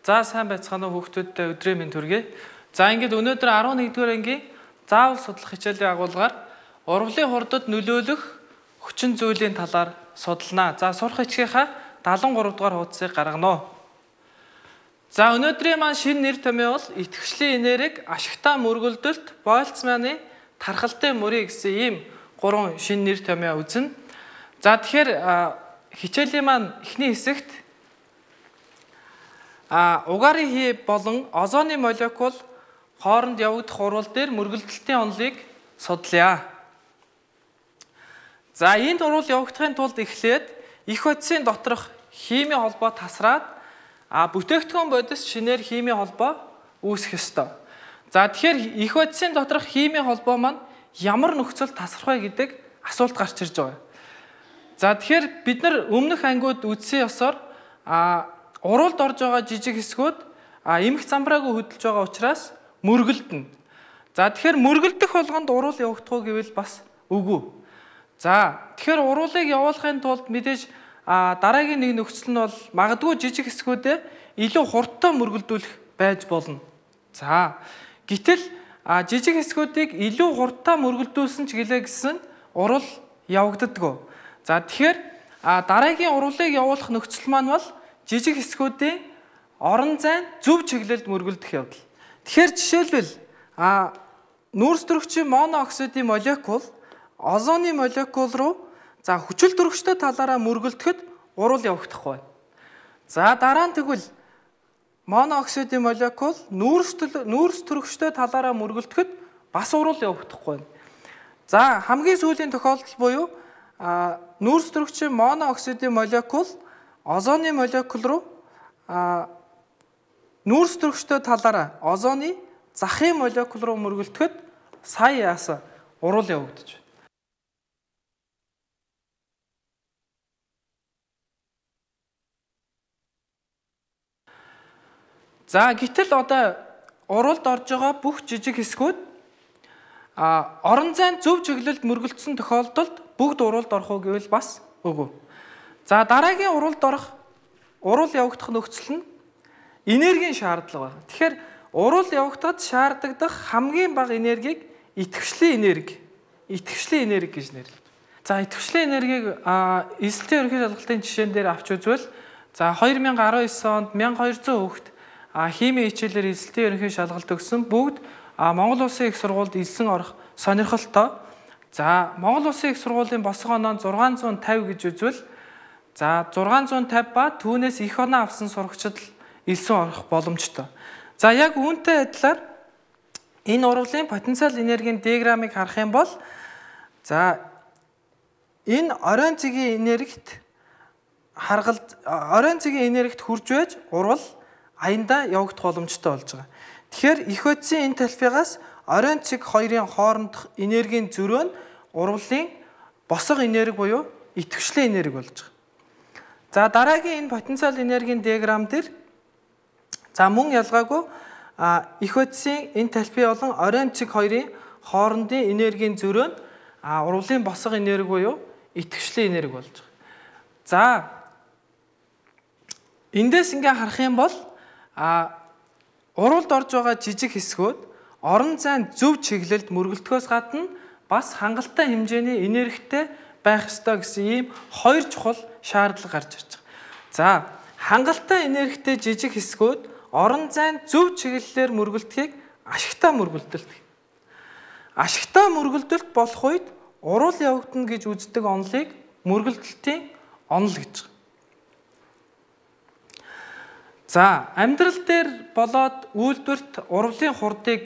За сайн байцгаана уу хүүхдүүдтэй өдрийн мэнд хүргэе. За ингээд өнөөдөр 11-р ангийн заавал судлах хичээлийн агуулгаар урвалын хурдад нөлөөлөх хүчин зүйлийн талаар судалнаа. За сурах хичээлийнхаа 73 дугаар хуудсыг гаргана. За өнөөдрийн маань шинэ нэр томьёо бол итгэвчлийн энерги, ашигтай мөргөлдөлт, Больцманы тархалтын мөрийг гэсэн ийм 3 шинэ нэр томьёо үзнэ. За тэгэхээр хичээлийн маань эхний хэсэгт угаарын хий болон озоны молекул хооронд явагдах урвал дээр мөргөлдөлтийн онолыг судлаа. За энд урвал явагдахын тулд эхлээд их бодисын доторх химийн холбоо тасраад бүтээгдэхүүн бодис шинээр химийн холбоо үүсэх ёстой. За тэгэхээр их бодисын доторх химийн холбоо маань ямар нөхцөл тасрах вэ гэдэг асуулт гарч ирж байгаа. За тэгэхээр бид нар өмнөх ангиуд үзсэн ёсоор урвалд орж байгаа жижиг хэсгүүд эмх замбраагүй хөдөлж байгаа учраас мөргөлдөнө. За тэгэхээр мөргөлдөх болгонд урвал явагдах уу гэвэл бас үгүй. За тэгэхээр урвалыг явуулахын тулд мэдээж дараагийн нэг нөхцөл нь бол магадгүй жижиг хэсгүүдэд илүү хурдтай мөргөлдүүлэх байж болно. За гэтэл жижиг хэсгүүдийг илүү хурдтай мөргөлдүүлсэн ч гэлээ гэсэн урвал явагддаггүй. За тэгэхээр дараагийн урвалыг явуулах нөхцөл маань бол жижиг хэсгүүдийн орон зайн зөв чиглэлд мөргөлдөх явдал. Тэгэхээр жишээлбэл нүүрс төрөгчийн монооксидын молекул озоны молекул руу хүчил төрөгчтэй талаараа мөргөлдөхэд урвал явагдахгүй байна. За дараа нь тэгвэл монооксидын молекул нүүрс төрөгчтэй талаараа мөргөлдөхэд бас урвал явагдахгүй байна. За хамгийн сүүлийн тохиолдол буюу нүүрс төрөгчийн монооксидын молекул озоны молекул руу нүүрс төрөгчтэй талаараа озоны захын молекул руу мөргөлдөхэд сая яасан урвал явагдаж байна. За гэтэл одоо урвалд орж байгаа бүх жижиг хэсгүүд орон зайн зөв чиглэлд мөргөлдсөн тохиолдолд бүгд урвалд орох уу гэвэл бас үгүй. За дараагийн урвал явагдах нөхцөл нь энергийн шаардлага байна. Тэгэхээр урвал явагдахад шаардлагадах хамгийн бага энергийг итгэвчлийн энерги гэж нэрлэдэг. За итгэвчлийн энергийг эзэлтийн ерөнхий шалгалтын жишээн дээр авч үзвэл за 2019 онд 1200 хүүхэд химийн хичээлээр эзэлтийн ерөнхий шалгалт өгсөн бүгд Монгол Улсын их сургуульд элсэн орох сонирхолтой. За Монгол Улсын их сургуулийн босгоо оноо 650 гэж үзвэл за 650 ба түүнээс их оноо авсан сурагчид элсэн орох боломжтой. За яг үүнтэй адилаар энэ урвалын потенциал энергийн диаграммыг харах юм бол за энэ оройн цэгийн энергит хурж байж урвал аяндаа явагдах боломжтой болж байгаа. Тэгэхээр их бодисын энэ талбайгаас оройн цэг хоёрын хоорондох энергийн зөрөө нь урвалын босго энерги буюу итгэвчлийн энерги болж байгаа. За дараагийн энэ потенциал энергийн диаграмм дээр за мөн ялгаагүй их бодисын энэ талбай болон оройн цэг хоёрын хоорондын энергийн зөрөө нь урвалын босго энерги буюу итгэвчлийн энерги болж байгаа. За эндээс ингээ харах юм бол урвалд орж байгаа жижиг хэсгүүд орон зайн зөв чиглэлд мөргөлдөхөөс гадна бас хангалттай хэмжээний энергитэй байх ёстой гэсэн ийм хоёр чухал шаардлага гарч ирж байгаа. За хангалттай энергитэй жижиг хэсгүүд орон зайн зөв чиглэлээр мөргөлдөхийг ашигтай мөргөлдөлт гэх. Ашигтай мөргөлдөлт болох үед урвал явагдана гэж үздэг онолыг мөргөлдөлтийн онол гэж. За амьдрал дээр болоод үйлдвэрт урвалын хурдыг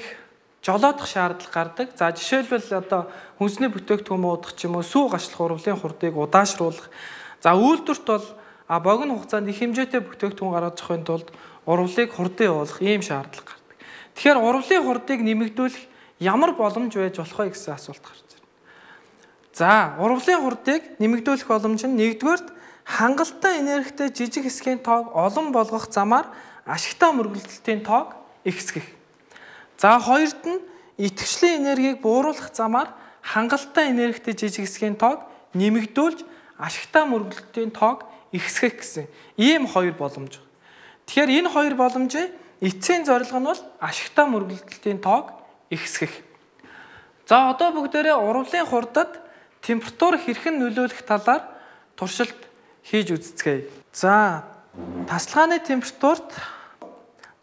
жолоодох шаардлага гардаг. За жишээлбэл одоо хүнсний бүтээгдэхүүн уудах ч юм уу сүү гашлах урвалын хурдыг удаашруулах. За үйлдвэрт бол богино хугацаанд их хэмжээтэй бүтээгдэхүүн гаргаж авахын тулд урвалыг хурдан явуулах ийм шаардлага гардаг. Тэгэхээр урвалын хурдыг нэмэгдүүлэх ямар боломж байж болох вэ гэсэн асуулт гарч ирнэ. За урвалын хурдыг нэмэгдүүлэх боломж нь нэгдүгээрт хангалттай энергитэй жижиг хэсгийн тоог олон болгох замаар ашигтай мөргөлдөлтийн тоог ихсгэх. За хоёрт нь итгэвчлийн энергийг бууруулах замаар хангалттай энергитэй жижиг хэсгийн тоог нэмэгдүүлж ашигтай мөргөлдөлтийн тоог ихсгэх гэсэн ийм хоёр боломж. Тэгэхээр энэ хоёр боломжийн эцсийн зорилго нь бол ашигтай мөргөлдөлтийн тоог ихсгэх. За одоо бүгдээрээ урвалын хурдад температур хэрхэн нөлөөлөх талаар туршилт хийж үзцгээе. За тасалгааны температурт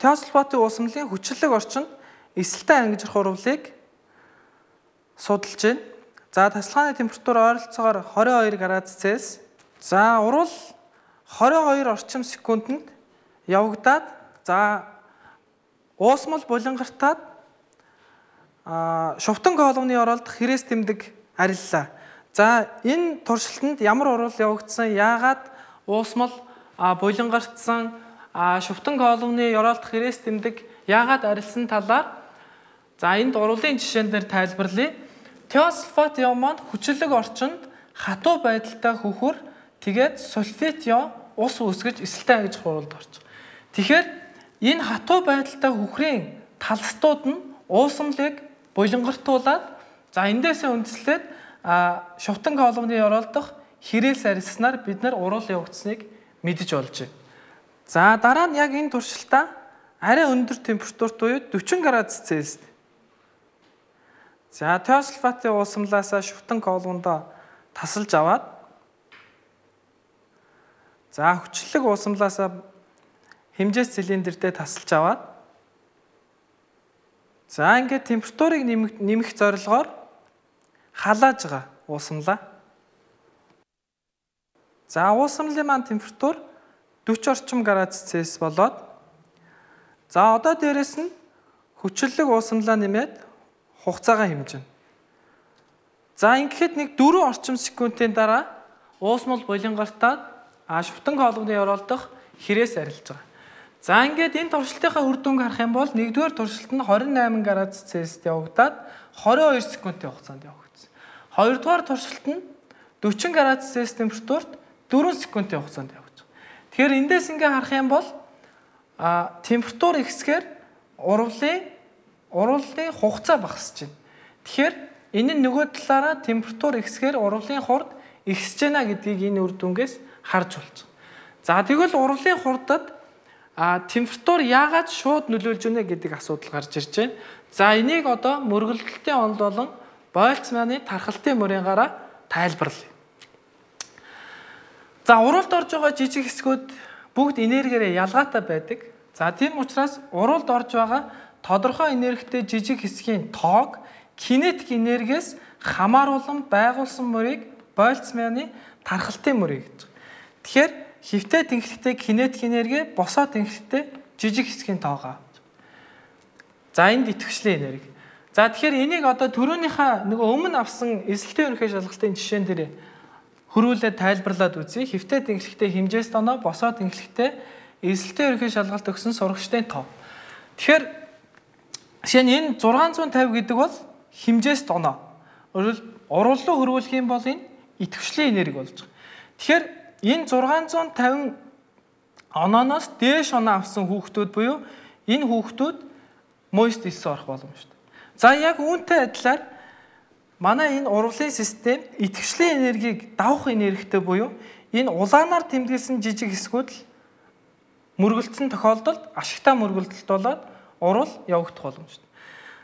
теосилфатын уусамлын хүчлэг орчинд эсэлтэй ангижрах урвалыг судалж байна. За тасалгааны температур ойролцоогоор 22 градус Цельс. За урвал 22 орчим секундэд явагдаад за уусмал булангартаад шувтан колоны оролдох хэрэгс тэмдэг ариллаа. За энэ туршилтанд ямар урвал явагдсан, яагаад уусмал булангартсан, шувтан колоны оролдох хэрэгс тэмдэг яагаад арилсан талаар за энд урвалын жишээн дээр тайлбарлая. Теосилфат ион маань хүчлэг орчинд хатуу байдалтай хөхөр тэгээд сульфит ион ус үүсгэж эсэлтэй ангижрах урвалд орж. Тэгэхээр энэ хатуу байдалтай хөхрийн талстууд нь уусамлыг булангартуулаад за эндээсээ үндэслээд шувтан колоны оролдох хэрэгс арилснаар бид нар урвал явагдсныг мэдэж болж байна. За дараа нь яг энэ туршилтаа арай өндөр температурт буюу 40 градус Цельсид. За теосилфатын уусамлаасаа шувтан колондоо тасалж аваад за хүчлэг уусамлаасаа хэмжээс цилиндртэй тасалж аваад за ингээд температурыг нэмэх зорилгоор халааж байгаа уусамлаа. За уусамлын маань температур 40 орчим градус Цельс болоод за одоо дээрэс нь хүчлэг уусамлаа нэмээд хугацаагаа хэмжинэ. За ингэхэд нэг 4 орчим секундын дараа уусмал булангартаад шувтан колоны оролдох хэрэгс арилж байгаа. За ингээд энэ туршилтынхаа үр дүнг харах юм бол нэгдүгээр туршилт нь 28 градус Цельсид явагдаад 22 секундын хугацаанд явагдсан. Хоёрдугаар туршилт нь 40 градус Цельс температурт 4 секундын хугацаанд явагдаж байгаа. Тэгэхээр эндээс ингээ харах юм бол температур ихсгээр урвалын хугацаа багасж байна. Тэгэхээр энэ нь нөгөө талаараа температур ихсгээр урвалын хурд ихсэж байна гэдгийг энэ үр дүнгээс харж болж байгаа. За тэгвэл урвалын хурдад температур яагаад шууд нөлөөлж байна гэдэг асуудал гарч ирж байна. За энийг одоо мөргөлдөлтийн онд болон Больцманы тархалтын мөрийнгаараа тайлбарлая. За урвалд орж байгаа жижиг хэсгүүд бүгд энергиэрээ ялгаатай байдаг. За тийм учраас урвалд орж байгаа тодорхой энергитэй жижиг хэсгийн тоог кинетик энергиэс хамааруулан байгуулсан мөрийг Больцманы тархалтын мөрийг гэж. Тэгэхээр хөвтэй тэнхлэгтэй кинетик энерги босоо тэнхлэгтэй жижиг хэсгийн тоогоо. За энд идэвхжлийн энерги. За тэгэхээр энийг одоо түрүүнийхээ нөгөө өмнө авсан эсэлтийн ерөнхий шалгалтын жишээн дээр хөрвүүлээд тайлбарлаад үзье. Хөвтэй тэнхлэгтэй хэмжээс тоноо, босоо тэнхлэгтэй эсэлтийн ерөнхий шалгалт өгсөн сурагчдын тоо. Тэгэхээр жишээ нь энэ 650 гэдэг бол хэмжээс тоноо. Урвал руу хөрвүүлэх юм бол энэ идэвхжлийн энерги болж байгаа. Тэгэхээр энэ 650 онооноос дээш оноо авсан хүүхдүүд буюу энэ хүүхдүүд мост элсэн орох боломжтой. За яг үүнтэй адилаар манай энэ урвалын систем идэвхжлийн энергийг давах энергитэй буюу энэ улаанаар тэмдэглэсэн жижиг хэсгүүд л мөргөлдсөн тохиолдолд ашигтай мөргөлдөлт болоод урвал явагдах боломжтой.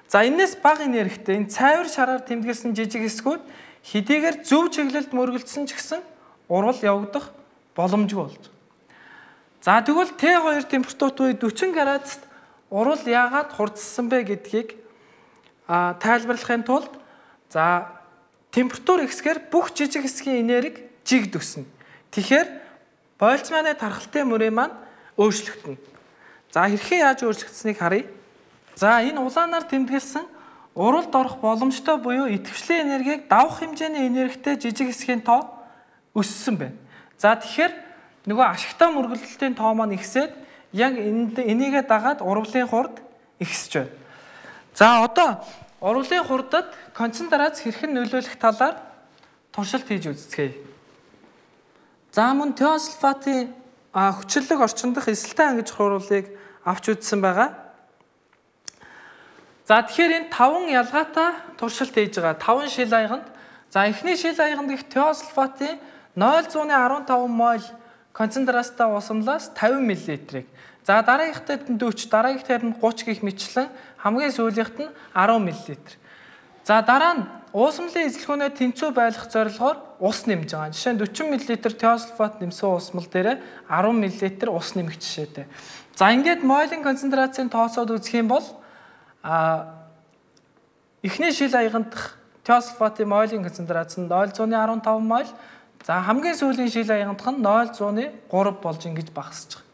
За энэс бага энергитэй энэ цайвар шараар тэмдэглэсэн жижиг хэсгүүд хэдийгээр зөв чиглэлд мөргөлдсөн ч гэсэн урвал явагдах боломжгүй болж байгаа. За тэгвэл Т2 температурт буюу 40 градуст урвал яагаад хурдсан бэ гэдгийг тайлбарлахын тулд за температур ихсгээр бүх жижиг хэсгийн энерги жигд өснө. Тэгэхээр Больцманы тархалтын мөрийн маань өөрчлөгдөнө. За хэрхэн яаж өөрчлөгдсөнийг харъя. За энэ улаанаар тэмдэглэсэн урвалд орох боломжтой буюу идэвхжлийн энергийг давах хэмжээний энергитэй жижиг хэсгийн тоо өссөн байна. За тэгэхээр нөгөө ашигтай мөргөлдөлтийн тоо маань ихсээд яг энийгээ дагаад урвалын хурд ихсэж байна. За одоо урвалын хурдад концентрац хэрхэн нөлөөлөх талаар туршилт хийж үзцгээе. За мөн теосилфатын хүчлэг орчиндох эсэлтэй ангижрах урвалыг авч үзсэн байгаа. За тэгэхээр энэ 5 ялгаатай туршилт хийж байгаа. 5 шил аяганд. За эхний шил аяганд их теосилфатын 0.15 мол концентрацтай уусамлаас 50 мл-ийг. За дараагийнхад нь 40, дараагийнхад нь 30 гэх мэтчлэн хамгийн сүүлийнхэд нь 10 мл. За дараа нь уусамлын эзлэгүүнээ тэнцүү байлгах зорилгоор ус нэмж байгаа. Жишээ нь 40 мл тиосульфат нэмсэн уусмал дээр 10 мл ус нэмэх жишээтэй. За ингээд мойлын концентрацийн тооцоод үзэх юм бол эхний шил аяган дахь тиосульфатын мойлын концентрац нь 0.15 мол. За хамгийн сүүлийн шил аяган дахь нь 0.3 болж ингэж багасж байгаа.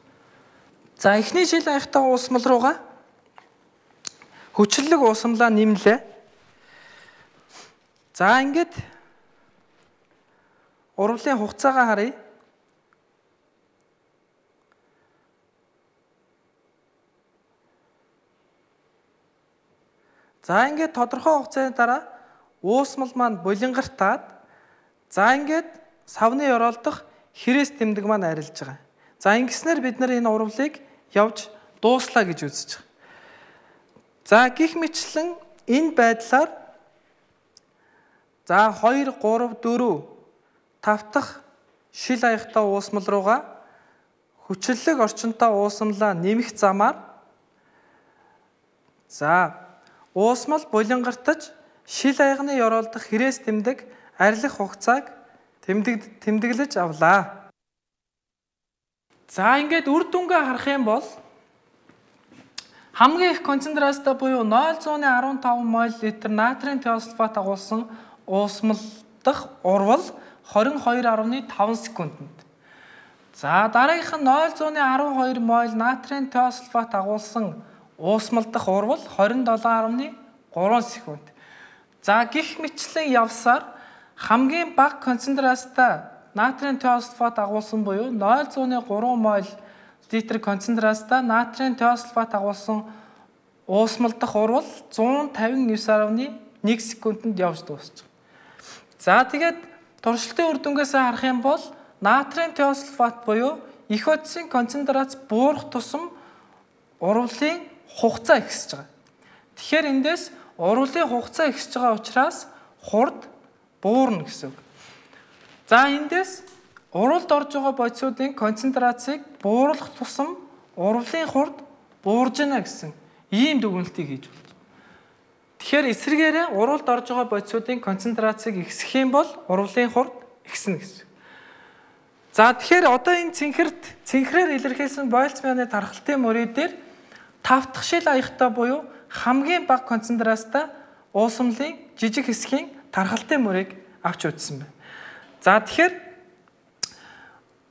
За эхний шил аягтай уусмал руугаа хүчлэг уусамлаа нэмлээ. За ингээд урвалын хугацаагаа харъя. За ингээд тодорхой хугацааны дараа уусмал маань булингартаад за ингээд савны ёроолдох хэрэгс тэмдэг маань арилж байгаа. За ингэснээр бид нар энэ урвалыг явж дууслаа гэж үзэж байгаа. За гих мэтлэн энэ байдлаар за 2, 3, 4, 5 дахь шил аягтай уусмал руугаа хүчлэг орчинтой уусамлаа нэмэх замаар за уусмал булингартаж шил аягны ёроолдох хэрэгс тэмдэг арилах хугацааг тэмдэглэж авлаа. За ингээд үр дүнгээ харах юм бол хамгийн их концентрацтай буюу 0.15 мол литр натрийн тиосульфат агуулсан уусмал дахь урвал 22.5 секундэд. За дараагийнх нь 0.12 мол натрийн тиосульфат агуулсан уусмал дахь урвал 27.3 секунд. За гих мэтлэн явсаар хамгийн бага концентрацтай натрийн тиосульфат агуулсан буюу 0.3 мол литр концентрацтай натрийн тиосульфат агуулсан уусмал дахь урвал 159.1 секундэд явж дуусчих. За тэгээд туршилтын үр дүнгээс харах юм бол натрийн тиосульфат буюу их утсын концентрац буурах тусам урвалын хугацаа ихсэж байгаа. Тэгэхээр эндээс урвалын хугацаа ихсэж байгаа учраас хурд буурна гэсэн үг. За эндээс урвалд орж байгаа бодисуудын концентрацийг бууруулах тусам урвалын хурд буурж байна гэсэн ийм дүгнэлтийг хийж байна. Тэгэхээр эсрэгээрээ урвалд орж байгаа бодисуудын концентрацийг ихсэх юм бол урвалын хурд ихснэ гэсэн. За тэгэхээр одоо энэ цэнхрээр илэрхийлсэн Больцманы тархалтын мөрий дээр 5 дахь шил аягтай буюу хамгийн бага концентрацтай уусамлын жижиг хэсгийн тархалтын мөрийг авч үзсэн байна. За тэгэхээр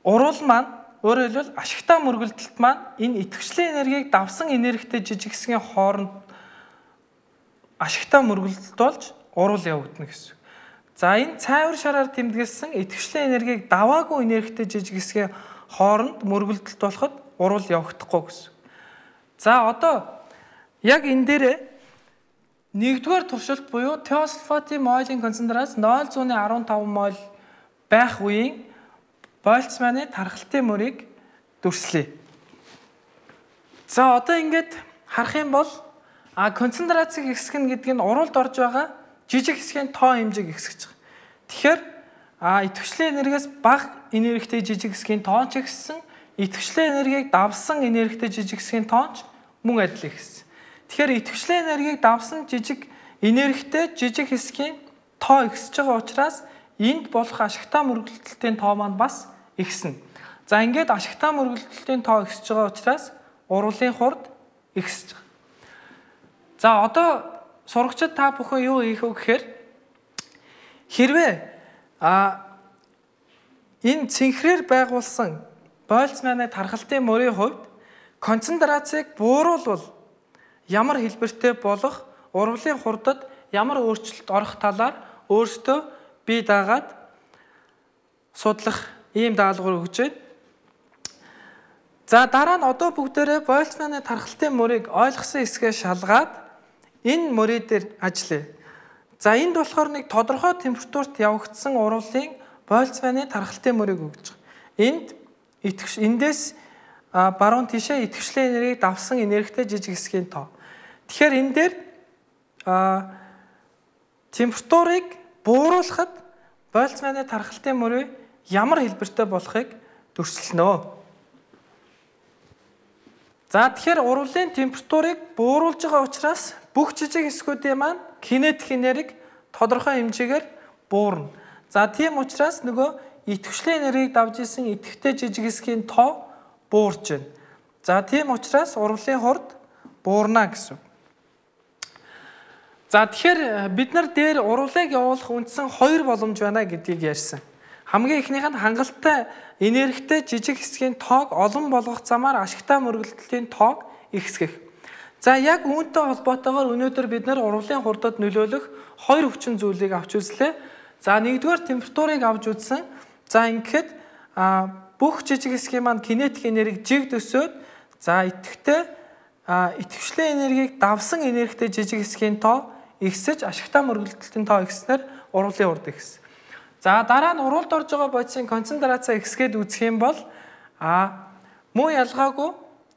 урвал маань өөрөөр хэлбэл ашигтай мөргөлдөлт маань энэ идэвхжлийн энергийг давсан энергитэй жижиг хэсгийн хооронд ашигтай мөргөлдөлт болж урвал явагдана гэсэн. За энэ цайвар шараар тэмдэглэсэн идэвхжлийн энергийг даваагүй энергитэй жижиг хэсгийн хооронд мөргөлдөлт болоход урвал явагдахгүй гэсэн. За одоо яг энэ дээрээ нэгдүгээр туршилт буюу тиосульфатын мойлын концентрац 0.15 мол байх үеийн Больцманы тархалтын мөрийг дүрслэе. За одоо ингээд харах юм бол концентрацийг ихсгэн гэдэг нь урвалд орж байгаа жижиг хэсгийн тоо хэмжээг ихсгэж байгаа. Тэгэхээр идэвхжлийн энергиас бага энергитэй жижиг хэсгийн тоо ч ихссэн, идэвхжлийн энергийг давсан энергитэй жижиг хэсгийн тоо ч мөн адил ихссэн. Тэгэхээр идэвхжлийн энергийг давсан жижиг энергитэй жижиг хэсгийн тоо ихсэж байгаа учраас энд болох ашигтай мөргөлдөлтийн тоо маань бас ихснэ. За ингээд ашигтай мөргөлдөлтийн тоо ихсэж байгаа учраас урвалын хурд ихсэж байгаа. За одоо сурагчид та бүхэн юу хийх вэ гэхээр хэрвээ энэ цэнхрээр байгуулсан Больцманы тархалтын мөрийн хувьд концентрацийг бууруулвал ямар хэлбэртэй болох урвалын хурдад ямар өөрчлөлт орох талаар өөрсдөө бие даагаад судлах ийм даалгавар өгч байна. За дараа нь одоо бүгдээрээ Больцманы тархалтын мөрийг ойлгосон хэсгээ шалгаад энэ мөрий дээр ажиллая. За энд болохоор нэг тодорхой температурт явагдсан урвалын Больцманы тархалтын мөрийг өгж байгаа. Эндээс баруун тишээ идэвхжлийн энергийг давсан энергитэй жижиг хэсгийн тоо. Тэгэхээр энэ дээр температурыг бууруулахад Больцманы тархалтын мөрөө ямар хэлбэртэй болохыг төрсөлнө. За тэгэхээр урвалын температурыг бууруулж байгаа учраас бүх жижиг хэсгүүдийн маань кинетик энерги тодорхой хэмжээгээр буурна. За тийм учраас нөгөө идэвхжлийн энергийг давж исэн идэвхтэй жижиг хэсгийн тоо буурч байна. За тийм учраас урвалын хурд буурна гэсэн. За тэгэхээр бид нар дээр урвалыг явуулах үндсэн 2 боломж байна гэдгийг ярьсан. Хамгийн эхнийх нь хангалттай энергитэй жижиг хэсгийн тоог олон болгох замаар ашигтай мөргөлдөлтийн тоог ихсгэх. За яг үүнтэй холбоотойгоор өнөөдөр бид нар урвалын хурдад нөлөөлөх 2 хүчин зүйлийг авч үзлээ. За нэгдүгээр температурыг авч үзсэн. За ингээд бүх жижиг хэсгийн маань кинетик энерги жигд өсөөд за идэвхжлийн энергийг давсан энергитэй жижиг хэсгийн тоо ихсэж ашигтай мөргөлдөлтийн тоо ихснээр урвалын хурд ихсэн. За дараа нь урвалд орж байгаа бодисын концентрацаа ихсгээд үзэх юм бол муу ялгаагүй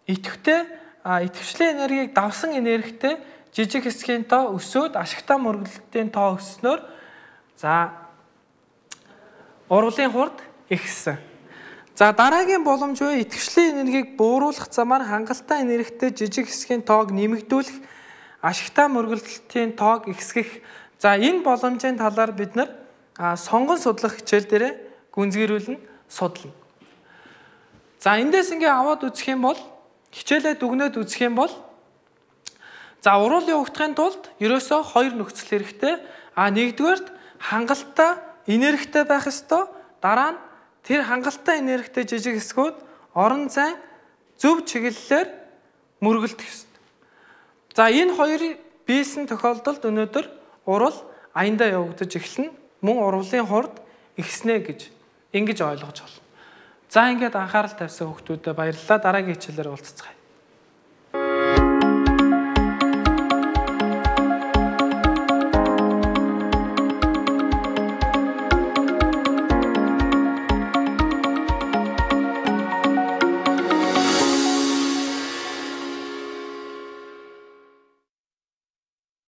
идэвхжлийн энергийг давсан энергитэй жижиг хэсгийн тоо өсөөд ашигтай мөргөлдөлтийн тоо өсснөөр за урвалын хурд ихссэн. За дараагийн боломж буюу идэвхжлийн энергийг бууруулах замаар хангалттай энергитэй жижиг хэсгийн тоог нэмэгдүүлэх ашигтай мөргөлдөлтийн тоог ихсгэх. За энэ боломжийн талаар бид нар сонгон судлах хичээл дээр гүнзгийрүүлэн судлана. За эндээс ингээ аваад үзэх юм бол хичээлээ дүгнээд үзэх юм бол за урвал явагдахын тулд ерөөсөө 2 нөхцөл хэрэгтэй. Нэгдүгээрт хангалттай энергитэй байх ёстой. Дараа нь тэр хангалттай энергитэй жижиг хэсгүүд орон зай зөв чиглэлээр мөргөлдөх ёстой. За энэ хоёрыг бийсэн тохиолдолд өнөөдөр урвал аяндаа явагдаж эхэлнэ. Мөн урвалын хурд ихснэ гэж ингэж ойлгож байна. За ингээд анхаарал тавьсан хүүхдүүдэд баярлалаа. Дараагийн хичээлээр уулзцгаая.